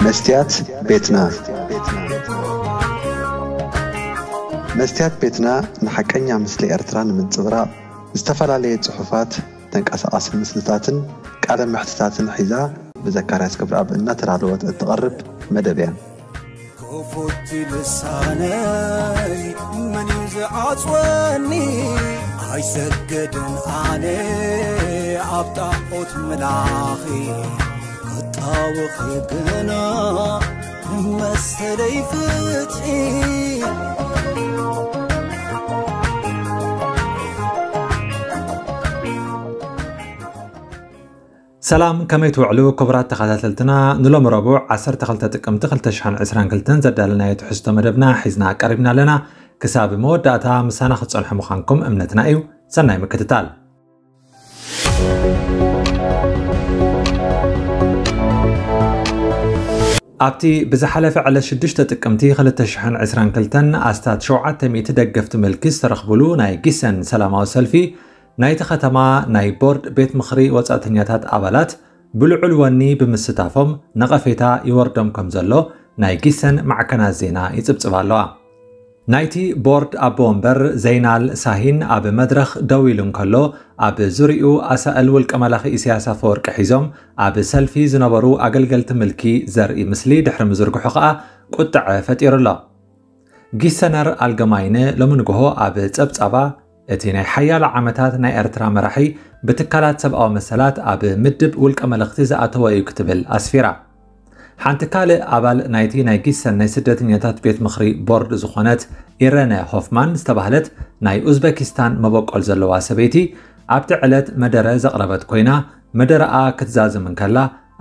መስትያት ቤትና። መስትያት ቤትና ንሓቀኛ ምስሊ ኤርትራ ንምንጽብራቕ ዝተፈላለየ ጽሑፋት፣ ተንቀሳቓሲ ምስልታትን ቃለ መሕትታትን ሒዛ ብዘካርያስ ገብረኣብ እናተዳለወት እትቐርብ መደብ እያ። ክፉት ልሳነይ መን እዩ ዝዓጽወኒ? ኣይሰግድን ኣነ ኣብ ጣዖት ምላኺ፣ ክጣወኺ ግና መሰለይ ፍትሒ። ሰላም፣ ከመይ ትውዕሉ ክቡራት ተኸታተልትና? ንሎሚ ረቡዕ ዓሰርተ ክልተ ጥቅምቲ ክልተ ሽሕን ዕስራን ክልተን ዘዳለናዮ ትሕዝቶ መደብና ሒዝና ቀሪብና ኣለና። ክሳብ መወዳእታ ምሳና ክትጸንሑ ምዃንኩም እምነትና እዩ። ሰናይ ምክትታል። ኣብቲ ብዝሓለፈ ዕለት ሽዱሽተ ጥቅምቲ ክልተ ሽሕን ዕስራን ክልተን ኣስታት ሸውዓተ ሚእቲ ደገፍቲ ምልኪ ዝተረኽብሉ ናይ ጊሰን ሰላማዊ ሰልፊ፣ ናይቲ ከተማ ናይ ቦርድ ቤት ምኽሪ ወጻእተኛታት ኣባላት ብልዑል ወኒ ብምስታፎም ነቐፌታ ይወርዶም ከም ዘሎ ናይ ጊሰን ማዕከናት ዜና ይጽብጽባ ኣለዋ። ናይቲ ቦርድ ኣቦ ወንበር ዘይናል ሳሂን ኣብ መድረኽ ደው ኢሉ እንከሎ፣ ኣብ ዙርያኡ ኣሳእል ውልቀ መላኺ ኢሳያስ ኣፈወርቂ ሒዞም ኣብ ሰልፊ ዝነበሩ ኣገልገልቲ ምልኪ ዘርኢ ምስሊ ድሕሪ ምዝርግሑ ከኣ ቁጥዐ ፈጢሩ ኣሎ። ጊሰነር ኣልገማይነ ሎሚ ንግሆ ኣብ ጸብጻባ፣ እቲ ናይ ሓያሎ ዓመታት ናይ ኤርትራ መራሒ ብትካላት ሰብኣዊ መሰላት ኣብ ምድብ ውልቀ መለኽቲ ዝኣተወ እዩ ክትብል ኣስፊራ። ሓንቲ ካልእ ኣባል ናይቲ ናይ ጊሰን ናይ ስደተኛታት ቤት ምኽሪ ቦርድ ዝኾነት ኢረነ ሆፍማን ዝተባህለት ናይ ኡዝበኪስታን መበቆል ዘለዋ ሰበይቲ ኣብቲ ዕለት መደረ ዘቕረበት ኮይና፣ መደረኣ ክትዛዝም እንከላ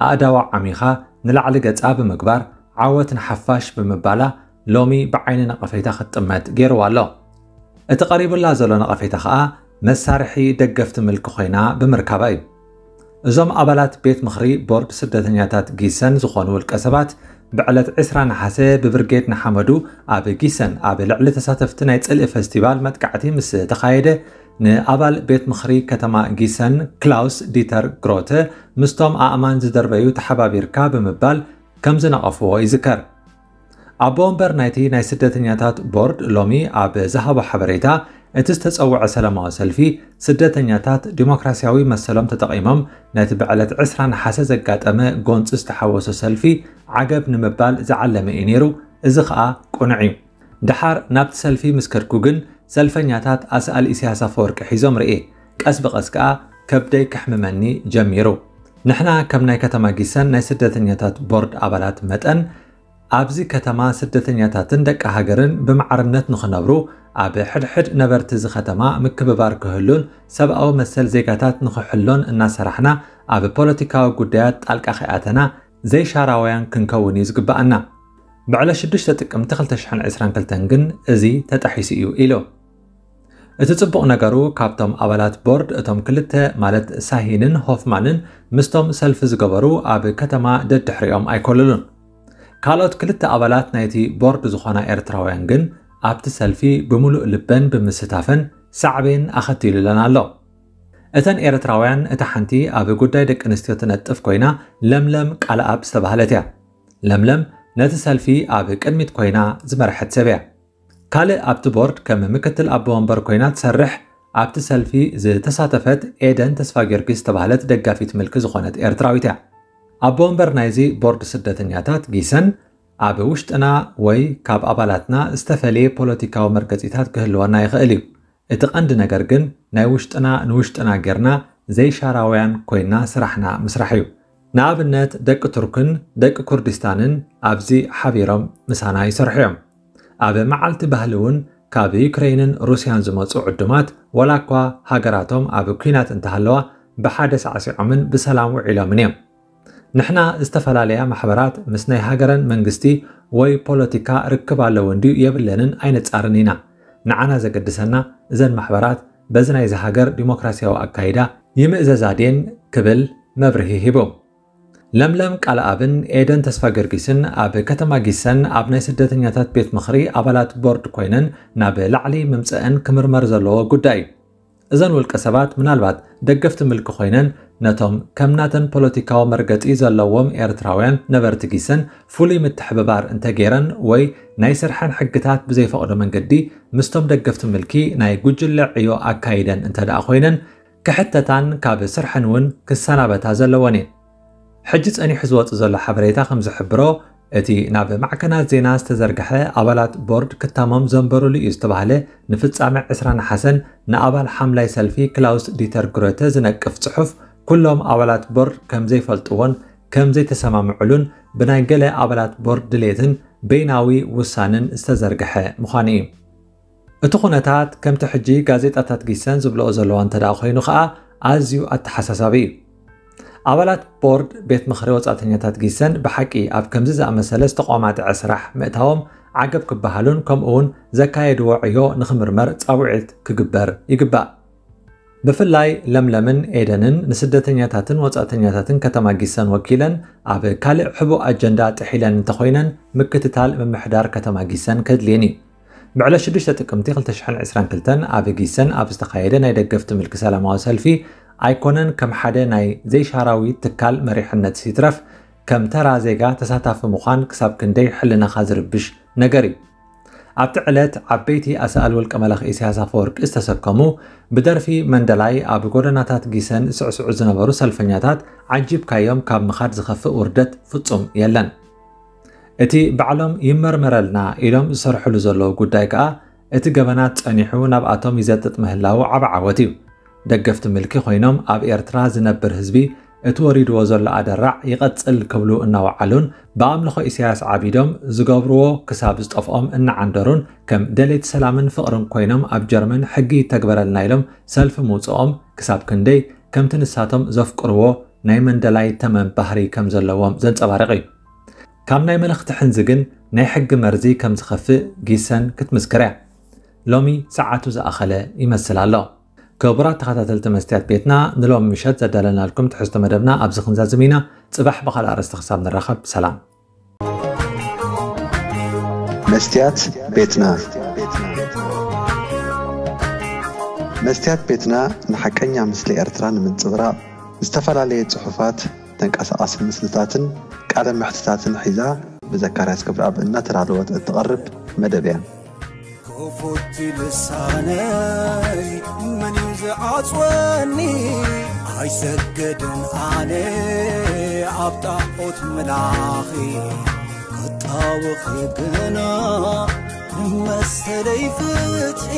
ኣእዳዋ ዓሚኻ ንላዕሊ ገጻ ብምግባር ዓወት ንሓፋሽ ብምባላ ሎሚ ብዓይኒ ነቐፌታ ክትጥመት ገይርዋ ኣሎ። እቲ ቀሪቡላ ዘሎ ነቐፌታ ከኣ መሳርሒ ደገፍቲ ምልኪ ኮይና ብምርካባ እዩ። እዞም ኣባላት ቤት ምኽሪ ቦርድ ስደተኛታት ጊሰን ዝኾኑ ውልቀ ሰባት ብዕለት ዕስራ ነሓሰ ብብርጌድ ንሓመዱ ኣብ ጊሰን ኣብ ልዕሊ ተሳተፍቲ ናይ ጽልኢ ፈስቲቫል መጥቃዕቲ ምስ ተኻየደ ንኣባል ቤት ምኽሪ ከተማ ጊሰን ክላውስ ዲተር ግሮተ ምስቶም ኣእማን ዝደርበዩ ተሓባቢርካ ብምባል ከም ዝነቐፍዎ ይዝከር። ኣቦ ወንበር ናይቲ ናይ ስደተኛታት ቦርድ ሎሚ ኣብ ዝሃቦ ሓበሬታ፣ እቲ ዝተጸውዐ ሰላማዊ ሰልፊ ስደተኛታት ዲሞክራሲያዊ መሰሎም ተጠቒሞም ነቲ ብዕለት ዕስራ ነሓሰ ዘጋጠመ ጎንጺ ዝተሓወሶ ሰልፊ ዓገብ ንምባል ዝዓለመ እዩ ነይሩ፣ እዚ ኸኣ ቅኑዕ እዩ። ደሓር ናብቲ ሰልፊ ምስ ከድኩ ግን ሰልፈኛታት ኣስኣል ኢሳያስ ኣፈወርቂ ሒዞም ርእየ። ቀስ ብቐስ ከኣ ከብደይ ከሕምመኒ ጀሚሩ። ንሕና ከም ናይ ከተማ ጊሰን ናይ ስደተኛታት ቦርድ ኣባላት መጠን ኣብዚ ከተማ ስደተኛታትን ደቂ ሃገርን ብማዕርነት ንኽነብሩ ኣብ ሕድሕድ ነበርቲ እዚ ከተማ ምክብባር ክህሉን ሰብኣዊ መሰል ዜጋታት ንኽሕሎን እናሰራሕና ኣብ ፖለቲካዊ ጉዳያት ጣልቃ ከይኣተና ዘይሻራውያን ክንከውን እዩ ዝግብኣና። ብዕለት ሽዱሽተ ጥቅምቲ ክልተ ሽሕን ዕስራን ክልተን ግን እዚ ተጣሒሱ እዩ ኢሉ። እቲ ጽቡቕ ነገሩ ካብቶም ኣባላት ቦርድ እቶም ክልተ ማለት ሳሂንን ሆፍማንን ምስቶም ሰልፊ ዝገበሩ ኣብ ከተማ ደድሕሪኦም ኣይኮለሉን። ካልኦት ክልተ ኣባላት ናይቲ ቦርድ ዝኾና ኤርትራውያን ግን ኣብቲ ሰልፊ ብምሉእ ልበን ብምስታፈን ሳዕቤን ኣኸቲሉለን ኣሎ። እተን ኤርትራውያን እታ ሓንቲ ኣብ ጉዳይ ደቂ ኣንስትዮ ትነጥፍ ኮይና ለምለም ቃልኣብ ዝተባህለት እያ። ለምለም ነቲ ሰልፊ ኣብ ቅድሚት ኮይና ዝመርሐት ሰብ እያ። ካልእ ኣብቲ ቦርድ ከም ምክትል ኣቦ ወንበር ኮይና ትሰርሕ ኣብቲ ሰልፊ ዝተሳተፈት ኤደን ተስፋ ጊዮርጊስ ዝተባህለት ደጋፊት ምልኪ ዝኾነት ኤርትራዊት እያ። ኣቦ ወንበር ናይዚ ቦርድ ስደተኛታት ጊሰን ኣብ ውሽጥና ወይ ካብ ኣባላትና ዝተፈለየ ፖለቲካዊ መርገጺታት ክህልወና ይኽእል እዩ። እቲ ቀንዲ ነገር ግን ናይ ውሽጥና ንውሽጥና ጌርና ዘይሻራውያን ኮይና ስራሕና ምስራሕ እዩ። ንኣብነት ደቂ ቱርክን ደቂ ኩርዲስታንን ኣብዚ ሓቢሮም ምሳና ይሰርሑ እዮም። ኣብ መዓልቲ ባህሊ እውን ካብ ዩክሬንን ሩስያን ዝመጹ ዕዱማት ዋላ እኳ ሃገራቶም ኣብ ኲናት እንተሃለዋ ብሓደ ሳዕሲዖምን ብሰላም ውዒሎምን እዮም። ንሕና ዝተፈላለያ ማሕበራት ምስ ናይ ሃገረን መንግስቲ ወይ ፖለቲካ ርክብ ኣለወን ድዩ የብለንን ኣይነጻርን ኢና። ንዓና ዘገድሰና እዘን ማሕበራት በዚ ናይዚ ሃገር ዲሞክራሲያዊ ኣካይዳ ይምእዘዛ ድየን ክብል መብርሂ ሂቡ። ለምለም ቃልኣብን ኤደን ተስፋ ጊዮርጊስን ኣብ ከተማ ጊሰን ኣብ ናይ ስደተኛታት ቤት ምኽሪ ኣባላት ቦርድ ኮይነን ናብ ላዕሊ ምምጸአን ክምርመር ዘለዎ ጉዳይ እዩ። እዘን ውልቀ ሰባት ምናልባት ደገፍቲ ምልኪ ኮይነን ነቶም ከም ናተን ፖለቲካዊ መርገጺ ዘለዎም ኤርትራውያን ነበርቲ ጊሰን ፍሉይ ምትሕብባር እንተገይረን ወይ ናይ ስርሐን ሕግታት ብዘይፈቕዶ መንገዲ ምስቶም ደገፍቲ ምልኪ ናይ ጉጅለ ዕዮ ኣካይደን እንተ ደኣ ኮይነን ክሕተታን ካብ ስርሐን እውን ክሰናበታ ዘለወን እየን። ሕጂ ጸኒሑ ዝወጽእ ዘሎ ሓበሬታ ከም ዝሕብሮ እቲ ናብ ማዕከናት ዜና ዝተዘርግሐ ኣባላት ቦርድ ክታሞም ዘንበሩሉ እዩ ዝተባህለ ንፍጻመ ዕስራ ነሓሰን ንኣባል ሓምላይ ሰልፊ ክላውስ ዲተር ግሮተ ዝነቅፍ ጽሑፍ ኩሎም ኣባላት ቦርድ ከም ዘይፈልጥዎን ከም ዘይተሰማምዕሉን ብናይ ገለ ኣባላት ቦርድ ድሌትን በይናዊ ውሳንን ዝተዘርግሐ ምዃኑ እዩ። እቲ ኩነታት ከምቲ ሕጂ ጋዜጣታት ጊሰን ዝብልኦ ዘለዋ እንተ ደኣ ኮይኑ ከኣ ኣዝዩ ኣተሓሳሳቢ እዩ። ኣባላት ቦርድ ቤት ምኽሪ ወጻእተኛታት ጊሰን ብሓቂ ኣብ ከምዚ ዝኣመሰለ ዝተቋማጥዐ ስራሕ ምእታዎም ዓገብ ክበሃሉን ከምኡ እውን ዘካየድዎ ዕዮ ንኽምርመር ጻውዒት ክግበር ይግባእ። ብፍላይ ለምለምን ኤደንን ንስደተኛታትን ወጻእተኛታትን ከተማ ጊሰን ወኪለን ኣብ ካልእ ሕቡእ ኣጀንዳ ጥሒለን እንተኾይነን ምክትታል ምምሕዳር ከተማ ጊሰን ከድልየን እዩ። ብዕለት ሽዱሽተ ጥቅምቲ ክልተ ሽሕን ዕስራን ክልተን ኣብ ጊሰን ኣብ ዝተኻየደ ናይ ደገፍቲ ምልኪ ሰላማዊ ሰልፊ ኣይኮነን ከም ሓደ ናይ ዘይሻራዊ ትካል መሪሕነት ይትረፍ ከም ተራ ዜጋ ተሳታፊ ምዃን ክሳብ ክንደይ ሕልናኻ ዝርብሽ ነገር እዩ። ኣብቲ ዕለት ዓበይቲ ኣሳእል ውልቀ መላኺ ኢሳያስ ኣፈወርቂ ዝተሰከሙ ብደርፊ መንደላይ ኣብ ጎደናታት ጊሰን ዝስዕስዑ ዝነበሩ ሰልፈኛታት ዓጂብካዮም ካብ ምኻድ ዝኸፍእ ውርደት ፍጹም የለን። እቲ ባዕሎም ይመርመረልና ኢሎም ዝሰርሕሉ ዘለዉ ጉዳይ ከኣ እቲ ገበናት ጸኒሑ ናብኣቶም ይዘጥጥ ምህላዉ ዓቢ ዓወት እዩ። ደገፍቲ ምልኪ ኮይኖም ኣብ ኤርትራ ዝነብር ህዝቢ እቲ ወሪድዎ ዘሎ ኣደራዕ ይቐጽል ክብሉ እናወዓሉን ብኣምልኾ ኢሳያስ ዓቢዶም ዝገብርዎ ክሳብ ዝጠፍኦም እናዓንደሩን ከም ደለይቲ ሰላምን ፍቕርን ኮይኖም ኣብ ጀርመን ሕጊ ይተግበረልና ኢሎም ሰልፊ ምውጽኦም ክሳብ ክንደይ ከምቲ ንሳቶም ዘፍቅርዎ ናይ መንደላይ ተመን ባህሪ ከም ዘለዎም ዘንጸባርቕ እዩ። ካብ ናይ መልእኽቲ ሕንዚ ግን ናይ ሕጊ መርዚ ከም ዝኸፍእ ጊሰን ክትምስክር እያ። ሎሚ ሰዓቱ ዝኣኸለ ይመስል ኣሎ። ክቡራት ተኸታተልቲ መስትያት ቤትና ንሎም ምሸት ዘዳለናልኩም ትሕዝቶ መደብና ኣብዚ ክንዛዝም ኢና። ጽባሕ ብኻልእ ኣርእስቲ ክሳብ ንራኸብ ሰላም። መስትያት ቤትና መስትያት ቤትና ንሓቀኛ ምስሊ ኤርትራ ንምንጽብራቕ ዝተፈላለየ ጽሑፋት፣ ተንቀሳቓሲ ምስልታትን ቃለ መሕትታትን ሒዛ ብዘካርያስ ክብረኣብ እናተዳለወት እትቐርብ መደብ እያ። ክፉት ልሳነይ መን እዩ ዝዓጽወኒ? ኣይሰገድን ኣነ ኣብ ጣዖት ምላኺ ክጣወኺ ግና ንመሰለይ ፍትሒ